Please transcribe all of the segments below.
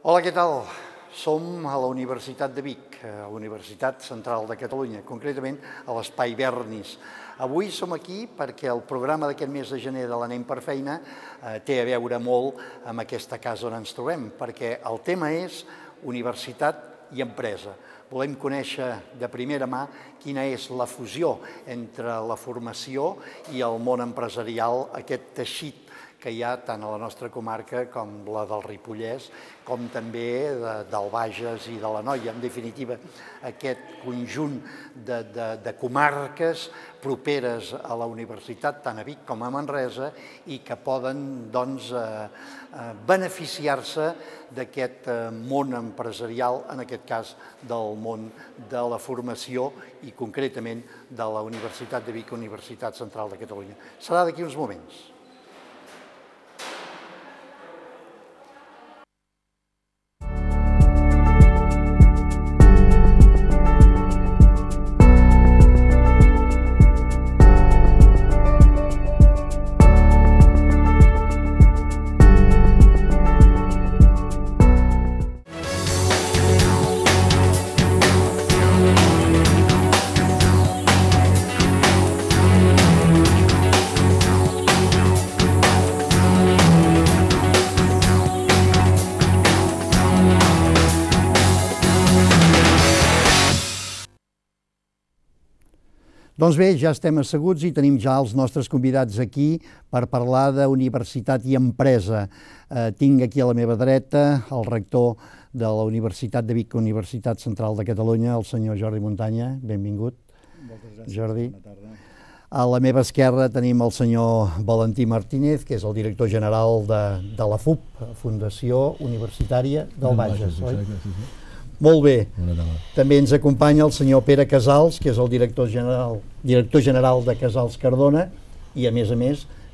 Hola, què tal? Som a la Universitat de Vic, a la Universitat Central de Catalunya, concretament a l'Espai Bernis. Avui som aquí perquè el programa d'aquest mes de gener de l'Anem per Feina té a veure molt amb aquesta casa on ens trobem, perquè el tema és universitat i empresa. Volem conèixer de primera mà quina és la fusió entre la formació i el món empresarial, aquest teixit que hi ha tant a la nostra comarca com la del Ripollès, com també del Bages i de l'Anoia. En definitiva, aquest conjunt de comarques properes a la universitat, tant a Vic com a Manresa, i que poden beneficiar-se d'aquest món empresarial, en aquest cas del món de la formació i concretament de la Universitat de Vic, Universitat Central de Catalunya. Serà d'aquí uns moments. Doncs bé, ja estem asseguts i tenim ja els nostres convidats aquí per parlar d'universitat i empresa. Tinc aquí a la meva dreta el rector de la Universitat de Vic, Universitat Central de Catalunya, el senyor Jordi Muntanya. Benvingut. Moltes gràcies, Jordi. bona tarda. A la meva esquerra tenim el senyor Valentí Martínez, que és el director general de la FUP, Fundació Universitària del Bages, oi? Sí. Molt bé. Bona tarda. També ens acompanya el senyor Pere Casals, que és el director general de Casals Cardona i, a més,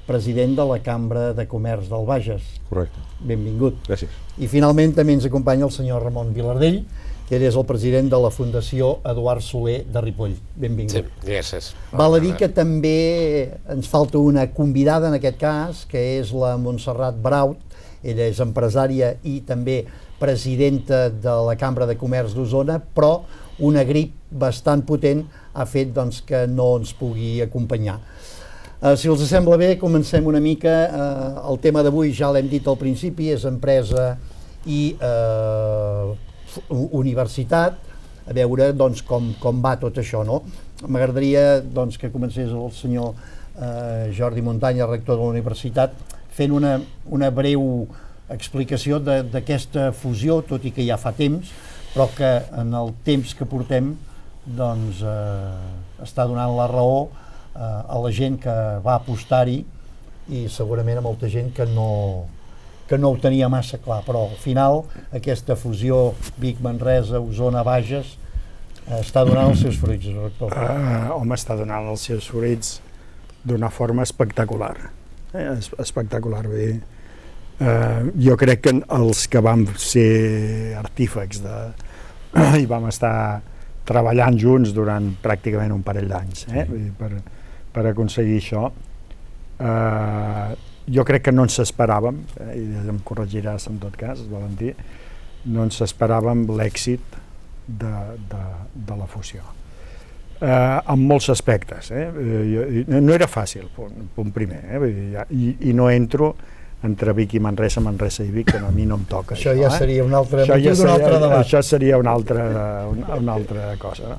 president de la Cambra de Comerç del Bages. Correcte. Benvingut. Gràcies. I finalment també ens acompanya el senyor Ramon Vilardell, que és el president de la Fundació Eduard Soler de Ripoll. Benvingut. Sí, gràcies. Val a dir que també ens falta una convidada en aquest cas, que és la Montserrat Braut. Ella és empresària i també presidenta de la Cambra de Comerç d'Osona, però una grip bastant potent ha fet que no ens pugui acompanyar. Si els sembla bé, comencem una mica. El tema d'avui, ja l'hem dit al principi, és empresa i universitat, a veure com va tot això, no? M'agradaria que comencés el senyor Jordi Muntanya, rector de la universitat, fent una breu explicació d'aquesta fusió, tot i que ja fa temps, però que en el temps que portem està donant la raó a la gent que va apostar-hi i segurament a molta gent que no ho tenia massa clar, però al final aquesta fusió Vic-Manresa, Osona-Bages està donant els seus fruits, rector. Home, està donant els seus fruits d'una forma espectacular. Espectacular, vull dir. Jo crec que els que vam ser artífecs i vam estar treballant junts durant pràcticament un parell d'anys per aconseguir això, jo crec que no ens esperàvem, i em corregiràs en tot cas, Valentí, no ens esperàvem l'èxit de la fusió. En molts aspectes. No era fàcil, punt primer, i no entro entre Vic i Manresa, Manresa i Vic, que a mi no em toca. Això ja seria un altre debat. Això seria una altra cosa.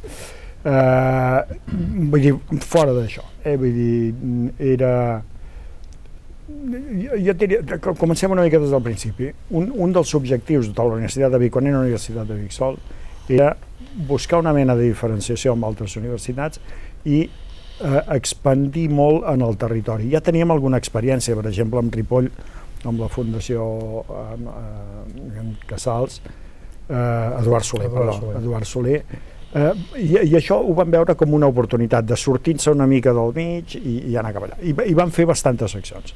Vull dir, fora d'això. Vull dir, era... Jo diria, comencem una mica des del principi. Un dels objectius de la Universitat de Vic, quan era la Universitat de Vic sol, era buscar una mena de diferenciació amb altres universitats i expandir molt en el territori. Ja teníem alguna experiència, per exemple, amb Ripoll, amb la Fundació Casals, Eduard Soler, i això ho vam veure com una oportunitat de sortir-se una mica del mig i anar cap allà. I vam fer bastantes accions.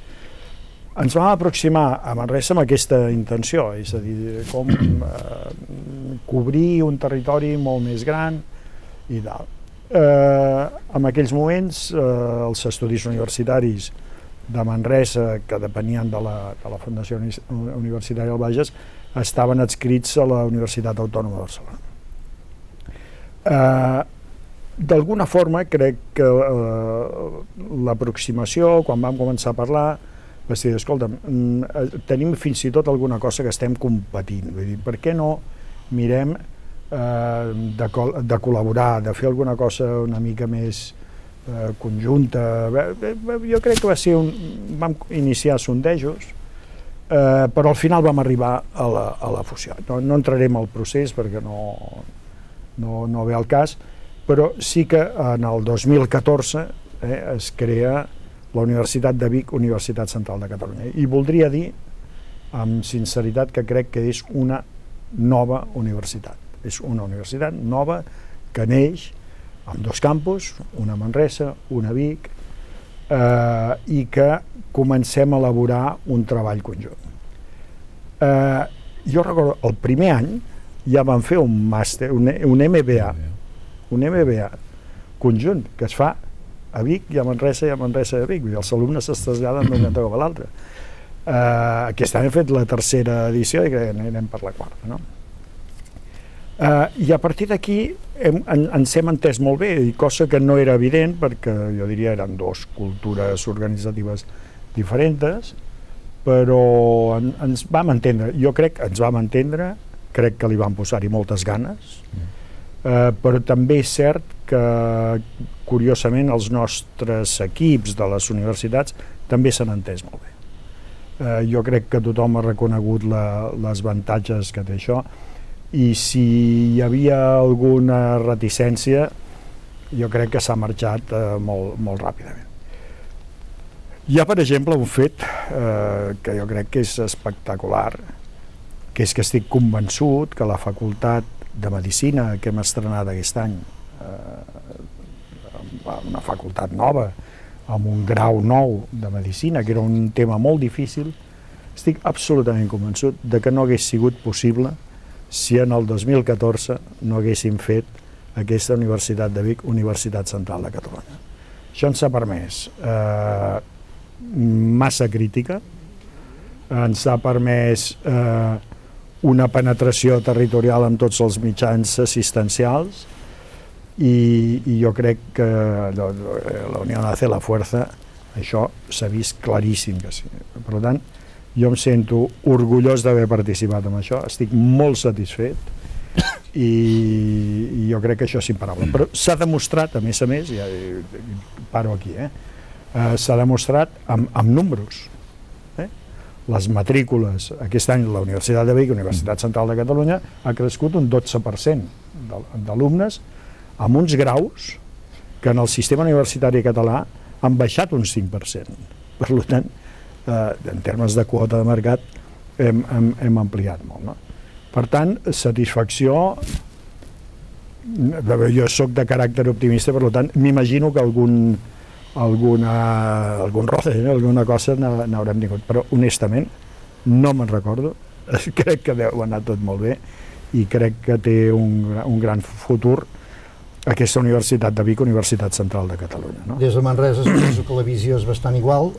Ens vam aproximar a Manresa amb aquesta intenció, és a dir, com cobrir un territori molt més gran i tal. En aquells moments els estudis universitaris de Manresa, que depenien de la Fundació Universitària del Bages, estaven adscrits a la Universitat Autònoma de Barcelona. D'alguna forma crec que l'aproximació, quan vam començar a parlar, va ser, escolta, tenim fins i tot alguna cosa que estem competint, vull dir, per què no mirem de col·laborar, de fer alguna cosa una mica més conjunta. Jo crec que va ser vam iniciar sondejos, però al final vam arribar a la fusió. No entrarem al procés perquè no ve al cas, però sí que en el 2014 es crea la Universitat de Vic, Universitat Central de Catalunya. I voldria dir, amb sinceritat, que crec que és una nova universitat. És una universitat nova que neix amb 2 campus, una a Manresa, una a Vic, i que comencem a elaborar un treball conjunt. Jo recordo, el primer any ja vam fer un màster, un MBA conjunt, que es fa a Vic i a Manresa i a Manresa i a Vic. Els alumnes es traslladen d'un cantó cap a l'altre. Aquest any hem fet la 3a edició i anem per la 4a, no? I a partir d'aquí ens hem entès molt bé, cosa que no era evident perquè jo diria eren 2 cultures organitzatives diferents, però ens vam entendre. Jo crec que ens vam entendre, crec que li vam posar-hi moltes ganes, però també és cert que curiosament els nostres equips de les universitats també s'han entès molt bé. Jo crec que tothom ha reconegut les avantatges que té això, i si hi havia alguna reticència jo crec que s'ha marxat molt ràpidament. Hi ha, per exemple, un fet que jo crec que és espectacular, que és que estic convençut que la Facultat de Medicina que hem estrenat aquest any, una facultat nova, amb un grau nou de Medicina, que era un tema molt difícil, estic absolutament convençut de que no hagués sigut possible si en el 2014 no haguéssim fet aquesta Universitat de Vic, Universitat Central de Catalunya. Això ens ha permès massa crítica, ens ha permès una penetració territorial amb tots els mitjans assistencials i jo crec que la unió hace la fuerza, això s'ha vist claríssim que sí. Per tant, jo em sento orgullós d'haver participat en això, estic molt satisfet i jo crec que això és imparable. Però s'ha demostrat, a més, ja paro aquí, s'ha demostrat amb números. Les matrícules, aquest any la Universitat de Vic, Universitat Central de Catalunya, ha crescut un 12% d'alumnes amb uns graus que en el sistema universitari català han baixat un 5%. Per tant, en termes de quota de mercat hem ampliat molt, no? Per tant, satisfacció, jo soc de caràcter optimista, per tant m'imagino que algun roce, alguna cosa n'haurem tingut, però honestament no me'n recordo, crec que deu anar tot molt bé i crec que té un gran futur aquesta Universitat de Vic, Universitat Central de Catalunya, no? Des de Manresa suposo que la visió és bastant igual.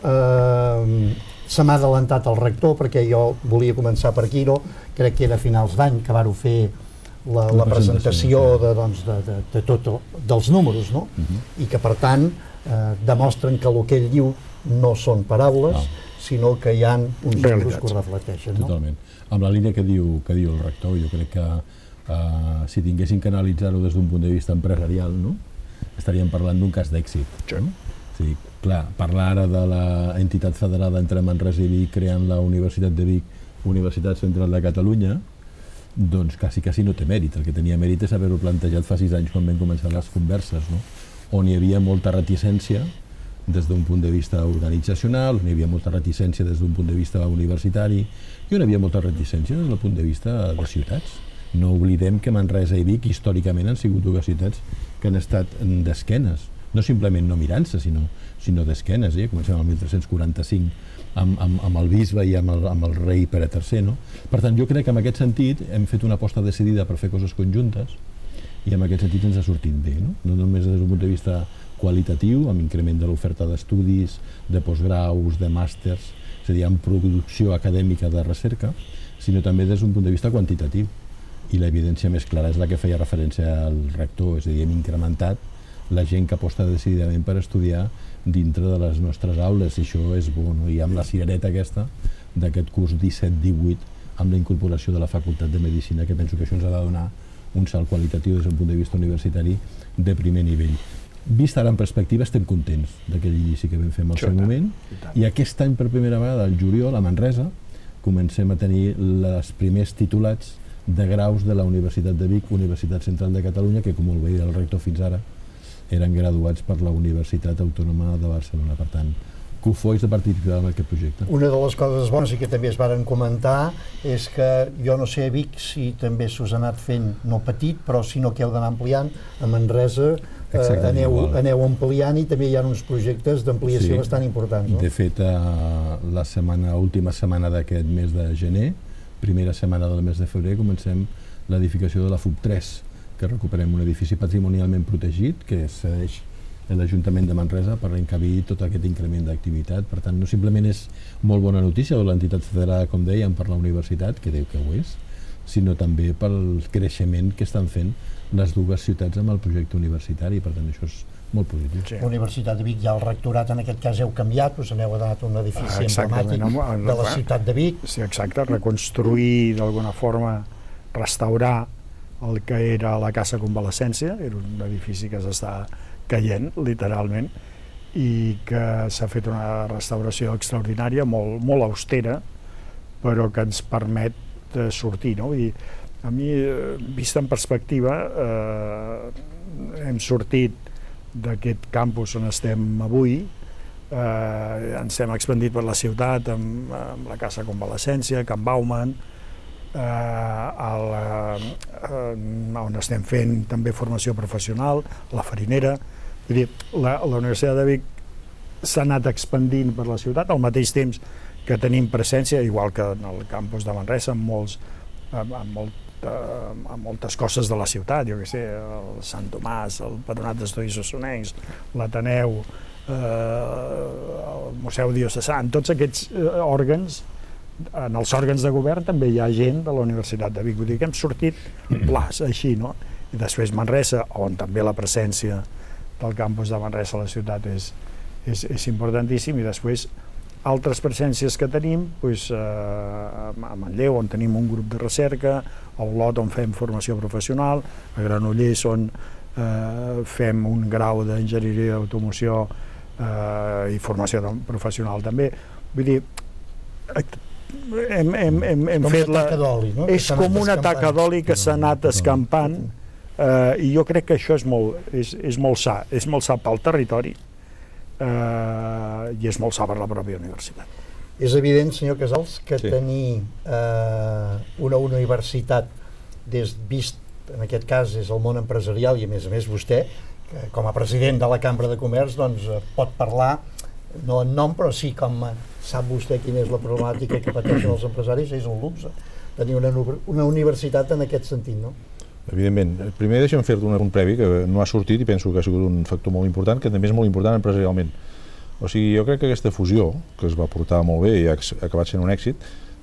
Se m'ha adelantat el rector perquè jo volia començar per aquí, no? Crec que era a finals d'any que vàreu fer la presentació de tot dels números, no? I que per tant demostren que el que ell diu no són paraules, sinó que hi ha uns números que ho reflecteixen, no? Totalment. Amb la línia que diu el rector, jo crec que si tinguéssim que analitzar-ho des d'un punt de vista empresarial, no? Estaríem parlant d'un cas d'èxit. Sí, clar, parlar ara de l'entitat federada entre Manresa i Vic creant la Universitat de Vic, Universitat Central de Catalunya, doncs quasi no té mèrit. El que tenia mèrit és haver-ho plantejat fa 6 anys quan vam començar les converses, no? On hi havia molta reticència des d'un punt de vista organitzacional, on hi havia molta reticència des d'un punt de vista universitari i on hi havia molta reticència des del punt de vista de ciutats. No oblidem que Manresa i Vic històricament han sigut dues ciutats que han estat d'esquenes, no simplement no mirant-se, sinó d'esquenes. Comencem el 1345 amb el bisbe i amb el rei Pere III, no? Per tant, jo crec que en aquest sentit hem fet una aposta decidida per fer coses conjuntes i en aquest sentit ens ha sortit bé, no només des d'un punt de vista qualitatiu, amb increment de l'oferta d'estudis, de postgraus, de màsters, és a dir, amb producció acadèmica de recerca, sinó també des d'un punt de vista quantitatiu. I l'evidència més clara és la que feia referència al rector, és a dir, hem incrementat la gent que aposta decididament per estudiar dintre de les nostres aules, i això és bo, no? I amb la cirereta aquesta d'aquest curs 17-18, amb la incorporació de la Facultat de Medicina, que penso que això ens ha de donar un salt qualitatiu des del punt de vista universitari de primer nivell. Vist ara en perspectiva, estem contents d'aquell inici que vam fer en el seu moment, i aquest any per primera vegada, al juliol, a Manresa, comencem a tenir els primers titulats de graus de la Universitat de Vic, Universitat Central de Catalunya, que, com molt bé el rector fins ara, eren graduats per la Universitat Autònoma de Barcelona. Per tant, cofois de participar en aquest projecte. Una de les coses bones i que també es varen comentar és que, jo no sé a Vic si també s'us ha anat fent, no petit, però si no que heu d'anar ampliant, a Manresa aneu ampliant, i també hi ha uns projectes d'ampliació bastant importants. De fet, la última setmana d'aquest mes de gener, primera setmana del mes de febrer, comencem l'edificació de la FUB3, que recuperem un edifici patrimonialment protegit que cedeix l'Ajuntament de Manresa per encabir tot aquest increment d'activitat. Per tant, no simplement és molt bona notícia de l'entitat federada, com dèiem, per la universitat, que diu que ho és, sinó també pel creixement que estan fent les dues ciutats amb el projecte universitari. Per tant, això és molt positiu. Sí. La Universitat de Vic, ja el rectorat en aquest cas heu canviat, us aneu donat un edifici emblemàtic de la ciutat de Vic. Sí, exacte, reconstruir d'alguna forma, restaurar el que era la Casa Convalescència, era un edifici que s'està caient, literalment, i que s'ha fet una restauració extraordinària, molt austera, però que ens permet sortir, no? Vull dir, a mi, vist en perspectiva, hem sortit d'aquest campus on estem avui, ens hem expandit per la ciutat amb la Casa Convalescència, Can Bauman, on estem fent també formació professional, la Farinera. Vull dir, la Universitat de Vic s'ha anat expandint per la ciutat al mateix temps que tenim presència, igual que en el campus de Manresa, amb moltes coses de la ciutat, jo què sé, el Sant Tomàs, el Patronat d'Estudis Osonencs, l'Ateneu, el Museu Diocesà, en tots aquests òrgans, en els òrgans de govern també hi ha gent de la Universitat de Vic. Vull dir que hem sortit plàs, així, no? I després Manresa, on també la presència del campus de Manresa a la ciutat és importantíssim, i després altres presències que tenim, a Manlleu, on tenim un grup de recerca, a Olot, on fem formació professional, a Granollers, on fem un grau d'enginyeria d'automoció i formació professional també. Vull dir, hem fet la... És com una taca d'oli que s'ha anat escampant, i jo crec que això és molt sa pel territori, i és molt sa per la pròpia universitat. És evident, senyor Casals, que tenir una universitat vist, en aquest cas és el món empresarial, i a més vostè, com a president de la Cambra de Comerç, doncs pot parlar, no en nom, però sí com sap vostè quina és la problemàtica que pateixen els empresaris, és un luxe tenir una universitat en aquest sentit, no? Evidentment. Primer deixem fer-te un previ que no ha sortit i penso que ha sigut un factor molt important, que també és molt important empresarialment. O sigui, jo crec que aquesta fusió, que es va portar molt bé i ha acabat sent un èxit,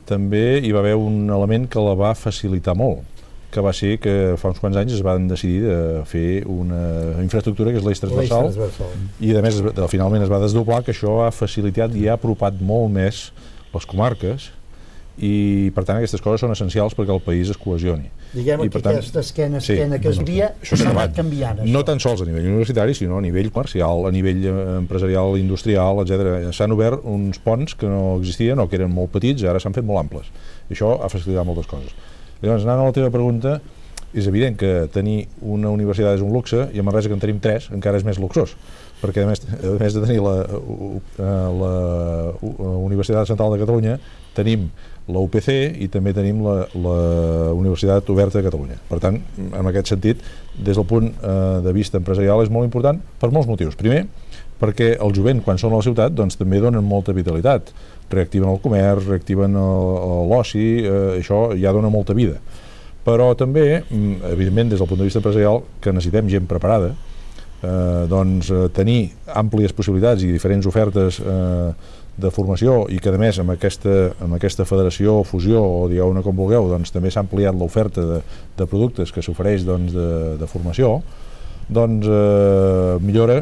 també hi va haver un element que la va facilitar molt, que va ser que fa uns quants anys es van decidir de fer una infraestructura que és l'eix transversal, i a més finalment es va desdoblar, que això ha facilitat i ha apropat molt més les comarques, i per tant aquestes coses són essencials perquè el país es cohesioni. Diguem que aquesta esquena que es havia s'ha anat canviant. No tan sols a nivell universitari, sinó a nivell comercial, a nivell empresarial, industrial, etc. S'han obert uns ponts que no existien o que eren molt petits i ara s'han fet molt amples. I això ha facilitat moltes coses. Llavors, anant a la teva pregunta, és evident que tenir una universitat és un luxe, i a Manresa, que en tenim 3, encara és més luxós, perquè a més de tenir la Universitat Central de Catalunya, tenim la UPC i també tenim la Universitat Oberta de Catalunya. Per tant, en aquest sentit, des del punt de vista empresarial és molt important per molts motius. Primer, perquè el jovent, quan són a la ciutat, doncs també donen molta vitalitat, reactiven el comerç, reactiven l'oci, això ja dona molta vida. Però també, evidentment, des del punt de vista empresarial, que necessitem gent preparada, doncs tenir àmplies possibilitats i diferents ofertes de formació i que a més amb aquesta federació o fusió o digueu-ne com vulgueu, doncs també s'ha ampliat l'oferta de productes que s'ofereix de formació, doncs millora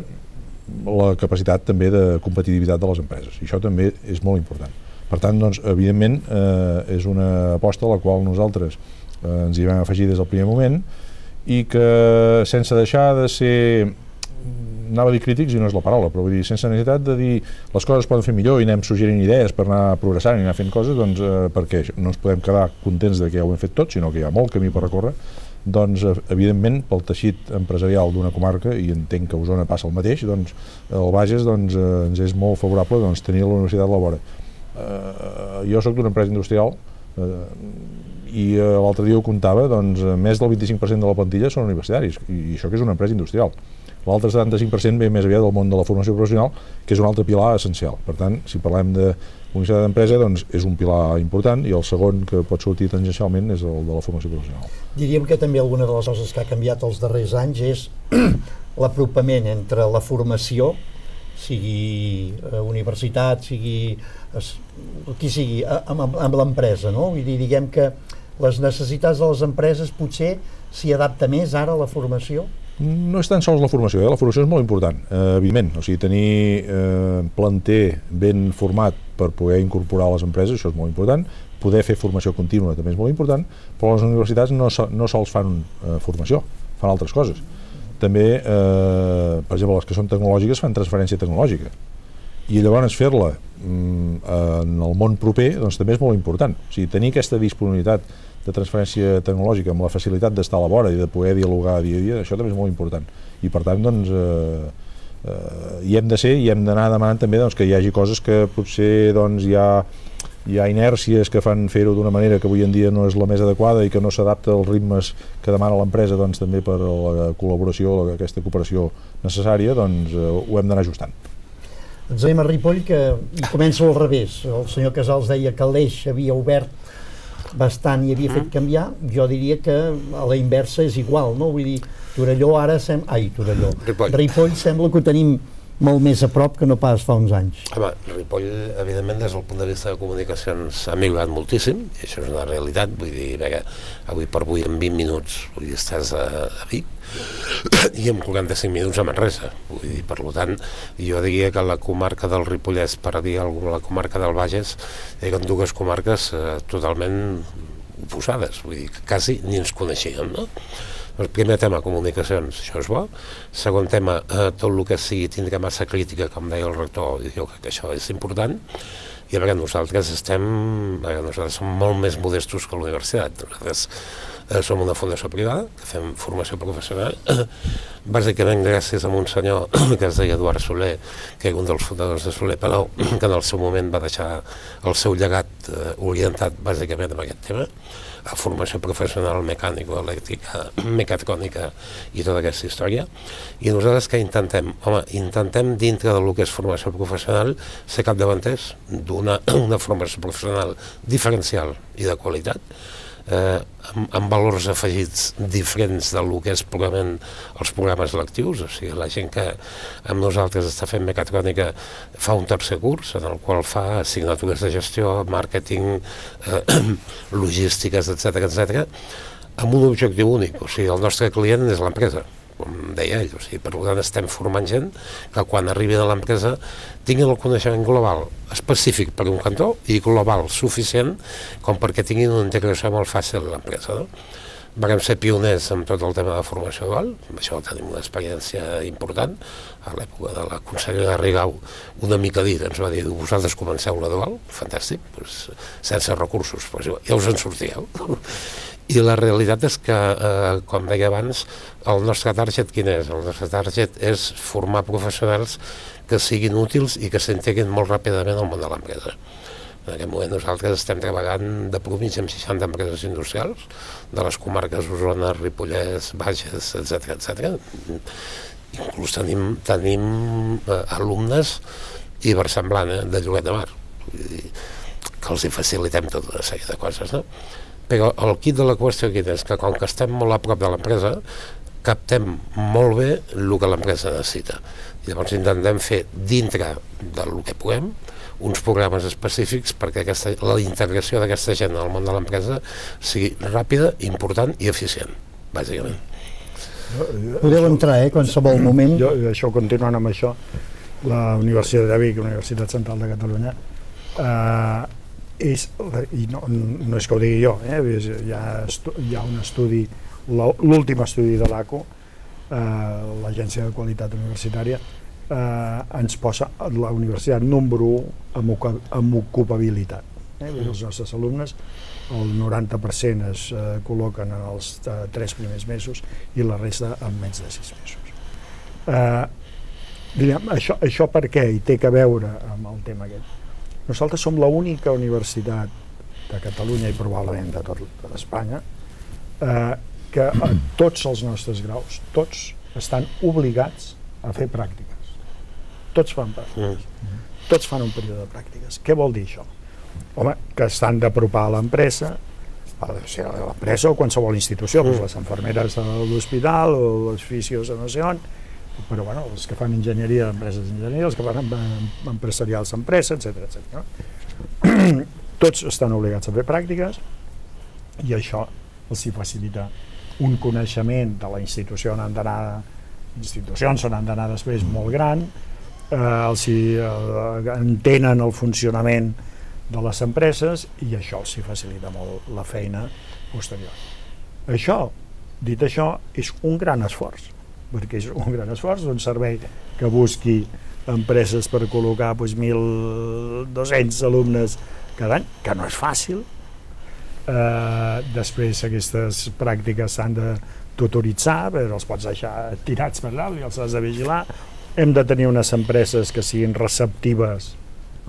la capacitat també de competitivitat de les empreses, i això també és molt important. Per tant, doncs, evidentment, és una aposta a la qual nosaltres ens hi vam afegir des del primer moment i que sense deixar de ser, anava a dir crítics i no és la paraula, però vull dir, sense necessitat de dir les coses es poden fer millor i anem suggerint idees per anar progressant i anar fent coses, doncs perquè no ens podem quedar contents de que ja ho hem fet tot, sinó que hi ha molt camí per recórrer, doncs evidentment pel teixit empresarial d'una comarca, i entenc que a Osona passa el mateix, doncs el Bages doncs, ens és molt favorable doncs, tenir la universitat a la vora. Jo soc d'una empresa industrial i l'altre dia ho comptava, doncs més del 25% de la plantilla són universitaris, i això que és una empresa industrial. L'altre 75% ve més aviat del món de la formació professional, que és un altre pilar essencial. Per tant, si parlem de universitat d'empresa, doncs és un pilar important, i el segon que pot sortir tangencialment és el de la formació professional. Diríem que també alguna de les coses que ha canviat els darrers anys és l'apropament entre la formació, sigui universitat, sigui qui sigui, amb l'empresa, no? Vull dir, diguem que les necessitats de les empreses potser s'hi adapta més ara a la formació? No és tan sols la formació és molt important, evidentment, o sigui, tenir planter ben format per poder incorporar a les empreses, això és molt important, poder fer formació contínua també és molt important, però les universitats no sols fan formació, fan altres coses. També, per exemple, les que són tecnològiques fan transferència tecnològica, i llavors fer-la en el món proper doncs també és molt important, o sigui, tenir aquesta disponibilitat de transferència tecnològica amb la facilitat d'estar a la vora i de poder dialogar dia a dia, això també és molt important, i per tant doncs hi hem de ser i hem d'anar demanant també doncs, que hi hagi coses que potser doncs, hi ha inèrcies que fan fer-ho d'una manera que avui en dia no és la més adequada i que no s'adapta als ritmes que demana l'empresa doncs, també per la col·laboració, aquesta cooperació necessària, doncs ho hem d'anar ajustant. Ens anem a Ripoll, que comença al revés. El senyor Casals deia que l'Eix havia obert bastant i havia fet canviar. Jo diria que a la inversa és igual, no? Vull dir, Torelló ara Ripoll sembla que ho tenim molt més a prop que no pas fa uns anys. Home, Ripoll, evidentment, des del punt de vista de comunicacions ha millorat moltíssim, i això és una realitat, vull dir, avui per avui en 20 minuts vull dir, estàs a Vic i en 45 minuts a Manresa, vull dir, per tant, jo diria que la comarca del Ripollès, per dir alguna la comarca del Bages, eren dues comarques totalment oposades, vull dir, que quasi ni ens coneixíem, no? El primer tema, comunicacions, això és bo. Segon tema, tot el que sigui tindre massa crítica, com deia el rector, i jo crec que això és important. I a veure, nosaltres som molt més modestos que la universitat. Nosaltres som una fundació privada, que fem formació professional, bàsicament gràcies a un senyor que es deia Eduard Soler, que era un dels fundadors de Soler Palau, que en el seu moment va deixar el seu llegat orientat bàsicament en aquest tema, a formació professional mecànico-elèctrica, mecatrònica i tota aquesta història. I nosaltres què intentem? Home, intentem dintre del que és formació professional ser capdavanters d'una formació professional diferencial i de qualitat, amb valors afegits diferents del que és purament els programes lectius, o sigui, la gent que amb nosaltres està fent mecatrònica fa un tercer curs en el qual fa assignatures de gestió, màrqueting, logístiques, etc., amb un objectiu únic, o sigui, el nostre client és l'empresa, com deia ell, o sigui, per tant estem formant gent que quan arribin a l'empresa tinguin el coneixement global específic per un cantó i global suficient com perquè tinguin una integració molt fàcil a l'empresa, no? Vam ser pioners en tot el tema de formació dual, amb això tenim una experiència important. A l'època de la consellera Rigau, una mica dit, ens va dir, vosaltres comenceu la dual, fantàstic, doncs, sense recursos, doncs, ja us en sortíeu. I la realitat és que, com deia abans, el nostre target quin és? El nostre target és formar professionals que siguin útils i que s'integrin molt ràpidament al món de l'empresa. En aquest moment nosaltres estem treballant de mitja amb 60 empreses industrials de les comarques Osona, Ripollès, Bages, etc. Inclús tenim alumnes i versemblant de Lloret de Mar, que els hi facilitem tota una sèrie de coses, no? Però el quid de la qüestió aquí és que com que estem molt a prop de l'empresa, captem molt bé el que l'empresa necessita. Llavors intentem fer dintre del que puguem uns programes específics perquè la integració d'aquesta gent al món de l'empresa sigui ràpida, important i eficient, bàsicament. Podeu entrar, qualsevol moment. Jo, això, continuant amb això, la Universitat de Vic, la Universitat Central de Catalunya, i no és que ho digui jo, hi ha un estudi, l'últim estudi de l'ACU, l'Agència de Qualitat Universitària, ens posa la universitat número 1 amb ocupabilitat. Els nostres alumnes, el 90% es col·loquen en els 3 primers mesos i la resta en menys de 6 mesos. Això per què? I té a veure amb el tema aquest. Nosaltres som l'única universitat de Catalunya i probablement de tot Espanya que a tots els nostres graus, tots estan obligats a fer pràctiques. Tots fan pràctiques. Tots fan un període de pràctiques. Què vol dir això? Home, que estan d'apropar a l'empresa, a l'empresa o qualsevol institució, les infermeres de l'hospital o els fisios no sé on, però bueno, els que fan enginyeria d'empreses d'enginyeria, els que fan empresarials d'empresa, etc. Tots estan obligats a fer pràctiques i això els hi facilita un coneixement de la institució on han d'anar, institucions on han d'anar després molt gran, els entenen el funcionament de les empreses i això els hi facilita molt la feina posterior. Això, dit això, és un gran esforç, perquè és un gran esforç d'un servei que busqui empreses per col·locar 1.200 alumnes cada any, que no és fàcil. Després aquestes pràctiques s'han de tutoritzar, però els pots deixar tirats per dalt i els has de vigilar. Hem de tenir unes empreses que siguin receptives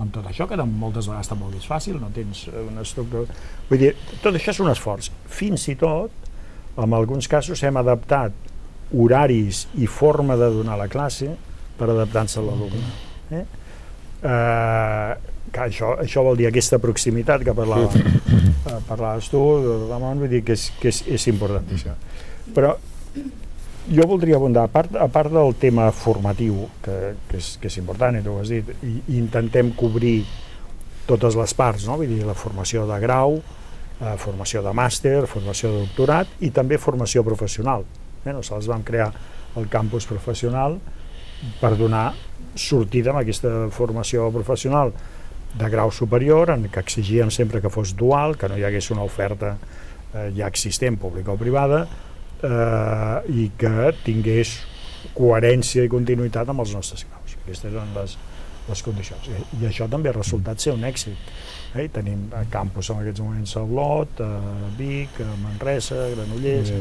amb tot això, que moltes vegades tampoc és fàcil, no tens una estructura. Vull dir, tot això és un esforç. Fins i tot, en alguns casos, hem adaptat horaris i forma de donar la classe per adaptar-se a l'alumne. Això vol dir aquesta proximitat que parlaves tu, Ramon, vull dir que és importantíssima. Però jo voldria abundar, a part del tema formatiu, que és important, i tu ho has dit, i intentem cobrir totes les parts, no? Vull dir, la formació de grau, formació de màster, formació de doctorat i també formació professional. Nosaltres vam crear el campus professional per donar sortida amb aquesta formació professional de grau superior, en què exigíem sempre que fos dual, que no hi hagués una oferta ja existent, pública o privada, i que tingués coherència i continuïtat amb els nostres graus. Aquestes eren les condicions. I això també ha resultat ser un èxit. Tenim campus en aquests moments a Olot, a Vic, a Manresa, a Granollers.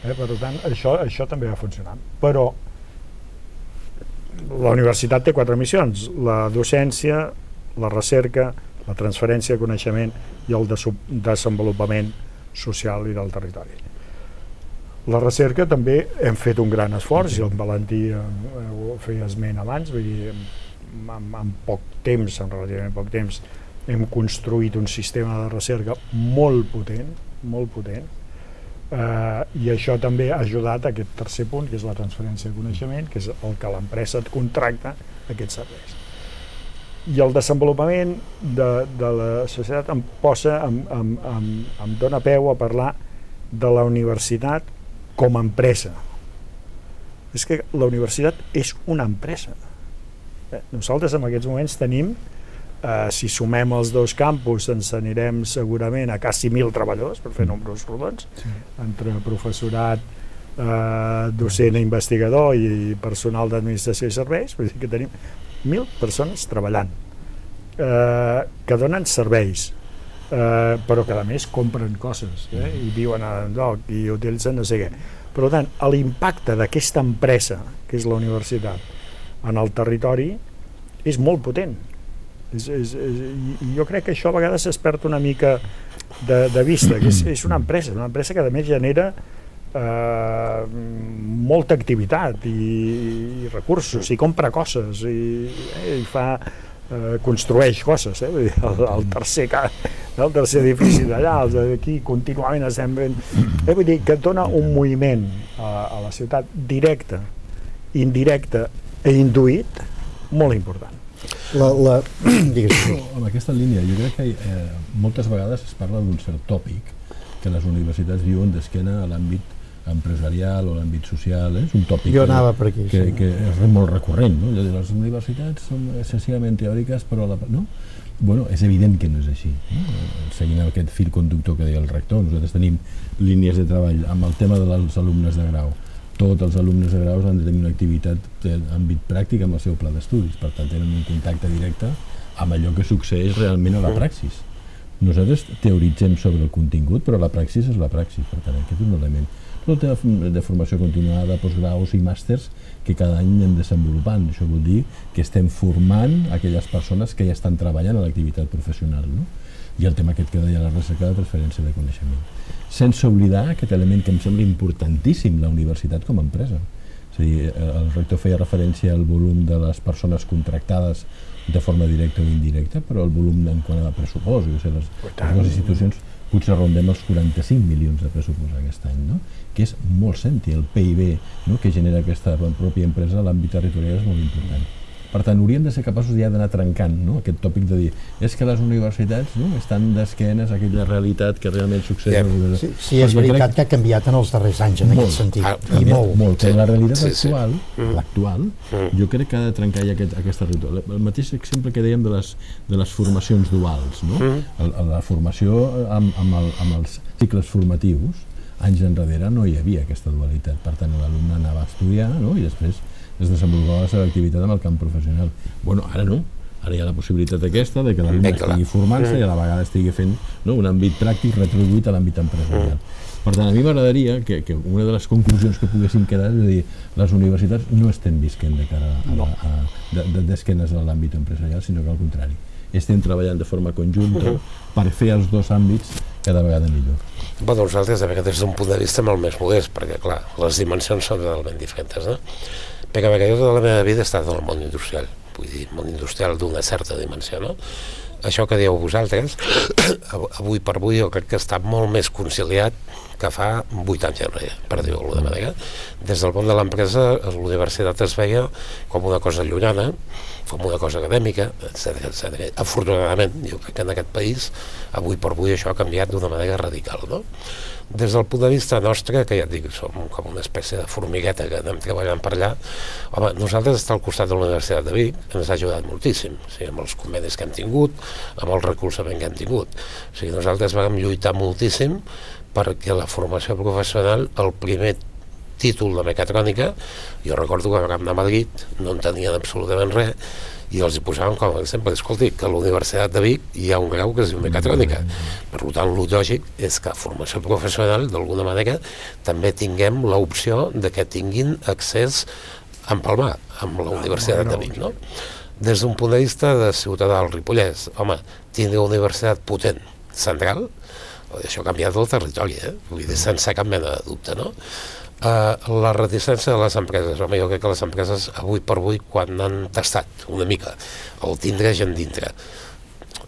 Per tant, això també va funcionant. Però la universitat té 4 missions: la docència, la recerca, la transferència de coneixement i el desenvolupament social i del territori. La recerca també hem fet un gran esforç, i el Valentí ho feia esment abans, vull dir, en poc temps, en relativament poc temps, hem construït un sistema de recerca molt potent, i això també ha ajudat a aquest tercer punt, que és la transferència de coneixement, que és el que l'empresa et contracta aquests serveis. I el desenvolupament de la societat em dona peu a parlar de la universitat com a empresa. És que la universitat és una empresa. Nosaltres en aquests moments tenim, si sumem els 2 campus, ens anirem segurament a quasi 1.000 treballadors, per fer números rodons, entre professorat, docent i investigador i personal d'administració i serveis. Vull dir que tenim 1.000 persones treballant, que donen serveis, però que a més compren coses i viuen a lloc i utilitzen no sé què. Per tant, l'impacte d'aquesta empresa, que és la universitat, en el territori és molt potent. Jo crec que això a vegades es perd una mica de vista, que és una empresa que a més genera molta activitat i recursos, i compra coses, i fa construeix coses, vull dir, el tercer edifici d'allà, els d'aquí contínuament estem fent... Vull dir que dona un moviment a la ciutat directe, indirecte i induït molt important. En aquesta línia, jo crec que moltes vegades es parla d'un cert tòpic que les universitats viuen d'esquena a l'àmbit empresarial o l'àmbit social, és un tòpic que és molt recurrent, no? Les universitats són excessivament teòriques, però no? Bueno, és evident que no és així, no? Seguint aquest fil conductor que deia el rector, nosaltres tenim línies de treball amb el tema dels alumnes de grau. Tots els alumnes de graus han de tenir una activitat d'àmbit pràctic amb el seu pla d'estudis, per tant tenen un contacte directe amb allò que succeeix realment a la praxis. Nosaltres teoritzem sobre el contingut, però la praxis és la praxis, per tant aquest és un element. Tot de formació continuada, postgraus i màsters que cada any anem desenvolupant. Això vol dir que estem formant aquelles persones que ja estan treballant a l'activitat professional, no? I el tema aquest que deia la recerca de transferència de coneixement. Sense oblidar aquest element que em sembla importantíssim, la universitat com a empresa. És a dir, el rector feia referència al volum de les persones contractades de forma directa o indirecta, però el volum en quant a pressupost, les institucions potser rondem els 45 milions de pressupost aquest any, no? Que és molt senti, el PIB, no? Que genera aquesta pròpia empresa a l'àmbit territorial és molt important. Per tant, hauríem de ser capaços ja d'anar trencant, no? Aquest tòpic de dir, és que les universitats, no? Estan d'esquenes a aquella realitat que realment succeeix. Sí, és veritat que ha canviat en els darrers anys en aquest sentit, i molt. Però la realitat actual, l'actual, jo crec que ha de trencar ja aquesta ritual. El mateix exemple que dèiem de les formacions duals, no? La formació amb els cicles formatius, anys enrere no hi havia aquesta dualitat, per tant l'alumne anava a estudiar, no? I després es desenvolupava la seva activitat en el camp professional. Bueno, ara no, ara hi ha la possibilitat aquesta de que l'alumne estigui formant-se i a la vegada estigui fent un àmbit pràctic retribuït a l'àmbit empresarial. Per tant, a mi m'agradaria que una de les conclusions que poguessin quedar és dir, les universitats no estem visquent de cara d'esquenes a l'àmbit empresarial, sinó que al contrari, estem treballant de forma conjunta per fer els dos àmbits cada vegada millor. Bueno, nosaltres, des d'un punt de vista molt més modest, perquè, clar, les dimensions són totalment diferents, no? Perquè jo tota la meva vida he estat en el món industrial, vull dir, món industrial d'una certa dimensió, no? Això que dieu vosaltres, avui per avui jo crec que està molt més conciliat que fa 8 anys enrere, per dir-ho d'alguna manera. Des del món de l'empresa, l'universitat es veia com una cosa llunyana, com una cosa acadèmica, etc. Afortunadament, jo crec que en aquest país, avui per avui això ha canviat d'una manera radical, no? Des del punt de vista nostre, que ja et dic, som com una espècie de formigueta que anem treballant per allà, home, nosaltres estar al costat de la Universitat de Vic ens ha ajudat moltíssim, o sigui, amb els convenis que hem tingut, amb el recolzament que hem tingut. O sigui, nosaltres vam lluitar moltíssim perquè la formació professional, el primer títol de mecatrònica, jo recordo que vam anar a Madrid, no en tenien absolutament res, i els hi posàvem com a exemple, escolti, que a la Universitat de Vic hi ha un grau que es diu mecatrònica. Per tant, el lògic és que a formació professional, d'alguna manera, també tinguem l'opció de que tinguin accés a empalmar amb la Universitat de Vic, no? Des d'un punt de vista de ciutadà del Ripollès, home, tindre una universitat potent, central, això ha canviat el territori, vull dir, sense cap mena de dubte, no? La reticència de les empreses, home, jo crec que les empreses avui per avui, quan han tastat una mica el tindre gent dintre,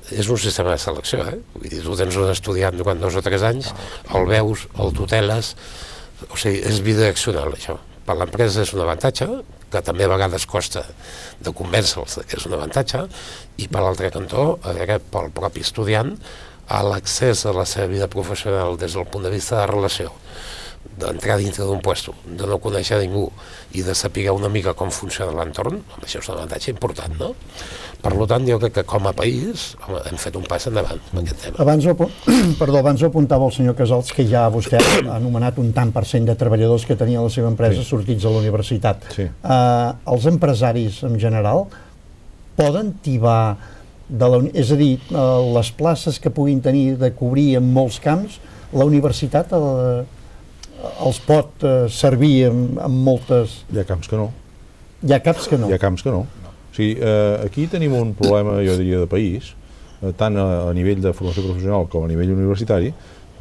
és un sistema de selecció, vull dir, tu tens un estudiant durant 2 o 3 anys, el veus, el tuteles, o sigui, és bidireccional això. Per l'empresa és un avantatge, que també a vegades costa de convèncer-los que és un avantatge, i per l'altre cantó, pel propi estudiant, a l'accés a la seva vida professional des del punt de vista de relació, d'entrar dintre d'un puesto, de no conèixer ningú i de saber una mica com funciona l'entorn, això és un avantatge important, no? Per tant, jo crec que com a país hem fet un pas endavant en aquest tema. Abans ho apuntava el senyor Casals, que ja vostè ha anomenat un tant per cent de treballadors que tenia la seva empresa sortits de la universitat. Els empresaris en general poden tibar, és a dir, les places que puguin tenir de cobrir en molts camps, la universitat els pot servir en moltes... Hi ha camps que no. Hi ha camps que no. Hi ha camps que no. O sigui, aquí tenim un problema, jo diria, de país, tant a nivell de formació professional com a nivell universitari,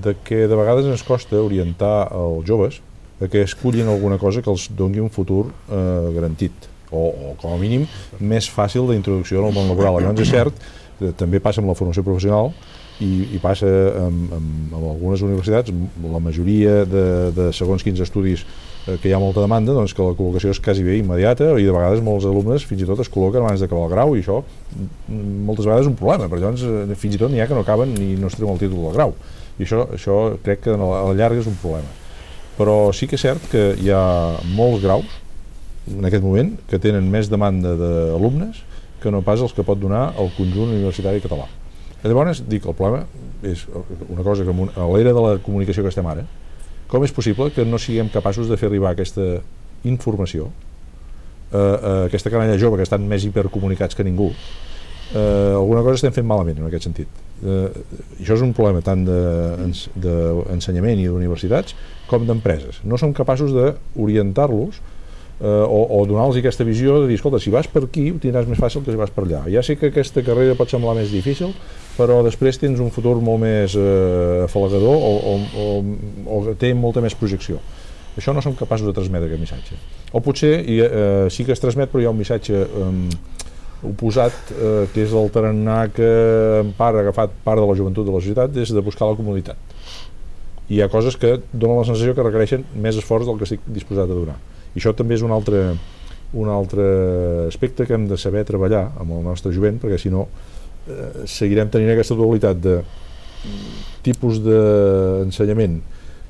de que de vegades ens costa orientar els joves a que escullin alguna cosa que els doni un futur garantit o com a mínim més fàcil d'introducció al món laboral. Llavors és cert, també passa amb la formació professional i passa amb algunes universitats, la majoria de segons quins estudis que hi ha molta demanda, doncs que la col·locació és quasi bé immediata i de vegades molts alumnes fins i tot es col·loquen abans d'acabar el grau i això moltes vegades és un problema, perquè llavors fins i tot n'hi ha que no acaben i no es treuen el títol del grau i això crec que a la llarga és un problema. Però sí que és cert que hi ha molts graus en aquest moment que tenen més demanda d'alumnes que no pas els que pot donar el conjunt universitari català. Llavors, dic, el problema és una cosa que a l'era de la comunicació que estem ara, com és possible que no siguem capaços de fer arribar aquesta informació a aquesta canalla jove que estan més hipercomunicats que ningú? Alguna cosa estem fent malament en aquest sentit. Això és un problema tant d'ensenyament i d'universitats com d'empreses. No som capaços d'orientar-los o donar-los aquesta visió de dir, escolta, si vas per aquí ho tindràs més fàcil que si vas per allà. Ja sé que aquesta carrera pot semblar més difícil, però després tens un futur molt més afalagador o té molta més projecció. Això no som capaços de transmetre aquest missatge. O potser sí que es transmet, però hi ha un missatge oposat, que és el tarannà que en part ha agafat part de la joventut de la societat, és de buscar la comoditat. I hi ha coses que donen la sensació que requereixen més esforç del que estic disposat a donar. I això també és un altre aspecte que hem de saber treballar amb el nostre jovent, perquè si no seguirem tenint aquesta dualitat de tipus d'ensenyament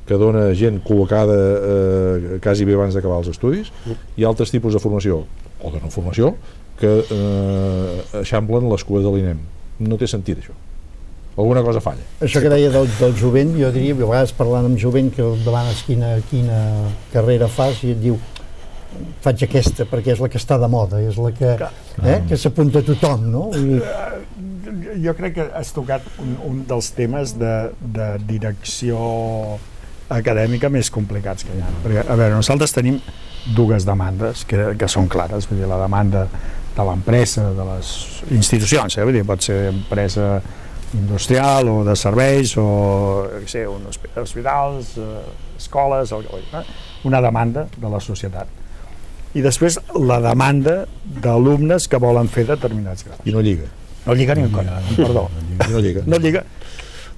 que dona gent col·locada quasi bé abans d'acabar els estudis i altres tipus de formació o de no formació que eixamplen les cues de l'INEM. No té sentit això. Alguna cosa falla. Això que deia del jovent, jo diria, a vegades parlant amb jovent que el demanes quina carrera fas i et diu faig aquesta perquè és la que està de moda, és la que s'apunta a tothom, no? Jo crec que has tocat un dels temes de direcció acadèmica més complicats que hi ha. Perquè, a veure, nosaltres tenim dues demandes que són clares, vull dir, la demanda de l'empresa, de les institucions, vull dir, pot ser empresa industrial o de serveis o hospitals, escoles, una demanda de la societat. I després la demanda d'alumnes que volen fer determinats graus. I no lliga. No lliga ni un cop, perdó. No lliga.